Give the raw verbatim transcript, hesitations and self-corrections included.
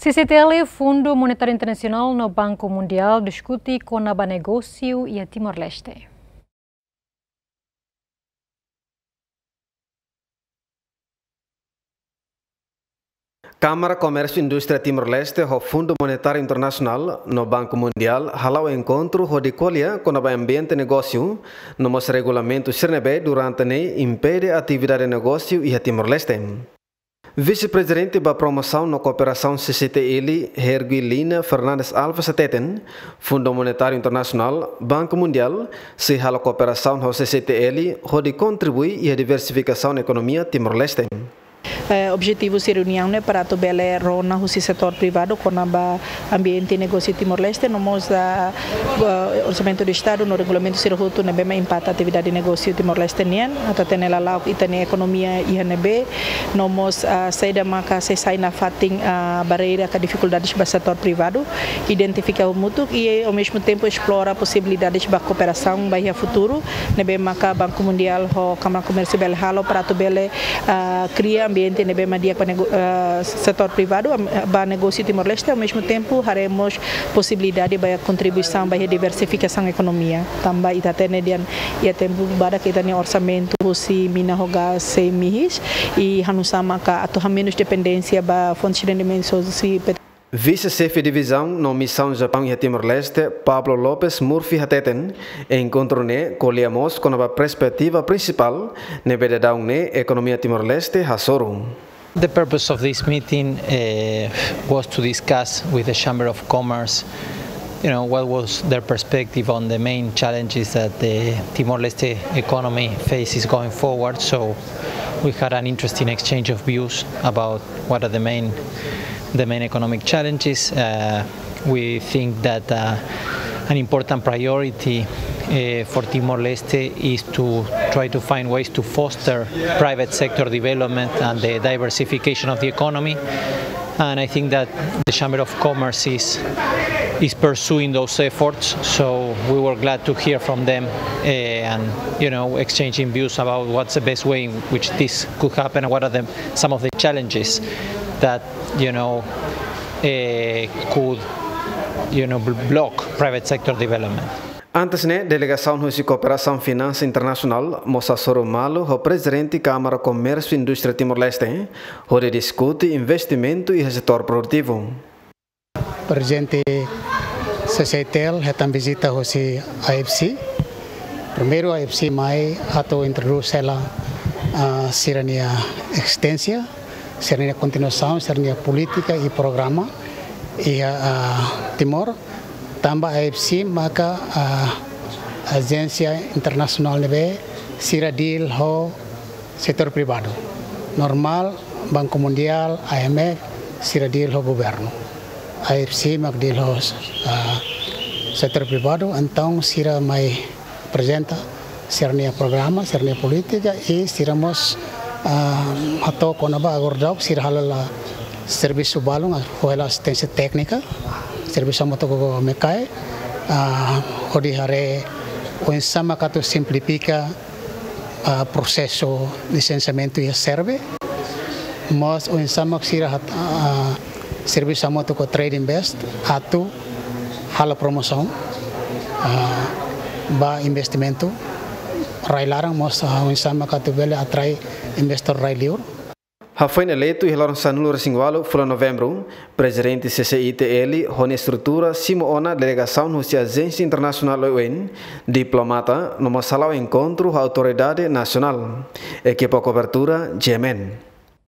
C C T L, Fundu Monetáriu Internasionál no Banku Mundiál diskute kona-ba negósiu iha Timor-Leste. Kámara Komérsiu Indústria Timor-Leste ho Fundu Monetáriu Internasionál no Banku Mundiál hala'o enkontru hodi ko'alia kona-ba ambiente negósiu no mós regulamentu sira ne'ebé durante ne'e impede atividade negósiu iha Timor-Leste. Vise-Prezidente ba Promosaun no Kooperasaun C C T L, Herguilina Fernandes Alves hateten, Fundu Monetáriu Internasionál, Banku Mundiál, sei halo kooperasaun ho C C T L hodi kontribui iha diversifikasaun ekonomia Timor-Leste. Eh, objetivu husi reuniaun ne'e para atu bele rona husi setór privadu kona-ba ambiente negósiu Timor-Leste, no mós, ah, eh, orsamentu do Estadu no regulamentu sira hotu ne'ebé mak impakta atividade negósiu Timor-Leste nian, atu hatene lala'ok ita-nia ekonomia iha ne'ebé, no mós, ah, saida maka sei sai nafatin, ah, barreira ka difikuldades ba setór privadu, identifika hamutuk i, ao mesmo tempo, esplora posibilidades ba kooperasaun ba iha futuru, ne'ebé maka Banku Mundiál ho Kámara Komérsiu bele halo para atu bele, ah, kria ambiente ne'ebé mak di'ak ba nego-, ah, setór privadu, am-, ba negósiu Timor-Leste, ao mesmo tempo, haree mós posibilidade ba kontribuisaun ba iha diversifikasaun ekonomia. Tanba ita hatene dehan iha tempu badak ita-nia orsamentu husi mina ho gás sei mihis, i halo nu'usá maka atu hamenus dependénsia ba fontes de rendimentu husi pet- Vise-Xefe Divizaun no Misaun Japaun iha Timor-Leste, Pablo Lopes Murphy hateten, enkontru ne'e ko'alia mós kona-ba perspetiva prinsipál ne'ebé daudaun ne'e ekonomia Timor-Leste hasoru. The purpose of this meeting, eh, was to discuss with the Chamber of Commerce, you know, what was their perspective on the main challenges that the Timor-Leste economy faces going forward. So we had an interesting exchange of views about what are the main, the main economic challenges. Uh, we think that, uh, an important priority, uh, for Timor-Leste is to try to find ways to foster private sector development and the diversification of the economy. And I think that the Chamber of Commerce is, is pursuing those efforts. So we were glad to hear from them, uh, and, you know, exchanging views about what's the best way in which this could happen and what are the, some of the challenges that, you know, uh, could, you know, bl-, block private sector development. Antes ne'e, delegasaun husi Kooperasaun Finansa Internasionál mós hasoru malu ho Prezidente Kámara Komérsiu Indústria Timor-Leste, hodi diskute investimentu iha setór produtivu. Prezidente C C T L hetan vizita husi I F C. Primeiru I F C mai atu introdús hela, ah, sira-nia ezisténsia, sira-nia kontinuasaun, sira-nia polítika i programa iha, ah, Timor. Tanba I F C maka, ah, ajénsia internasionál ne'ebé sira deal ho setór privadu. Normál, Banku Mundiál, I M F, sira deal ho governu. I F C mak deal ho, ah, setór privadu, entaun sira mai aprezenta sira-nia programa, sira-nia polítika, i sira mós, ah, hato'o kona-ba agora daudaun sira hala'o servisu balun, ah, halo asisténsia téknika, servisu hamutuk ho MECAE, ah, hodi haree oinsá maka atu simplifika, ah, prosesu lisensiamentu iha SERVE. Mós oinsá mak sira hato'o, ah, servisu hamutuk ho Trade Invest atu halo promosaun, ah, ba investimentu rai laran, mós, ah, oinsá maka atu bele atrai investór rai-li'ur. Hafoin eleitu iha loron sanulu-resin-ualu fulan Novembru, Prezidente C C I T L ho nia estrutura simu ona delegasaun husi ajénsia internasionál oioin, diplomata, no mós hala'o enkontru ho autoridade nasionál. Ekipa kobertura, G M N.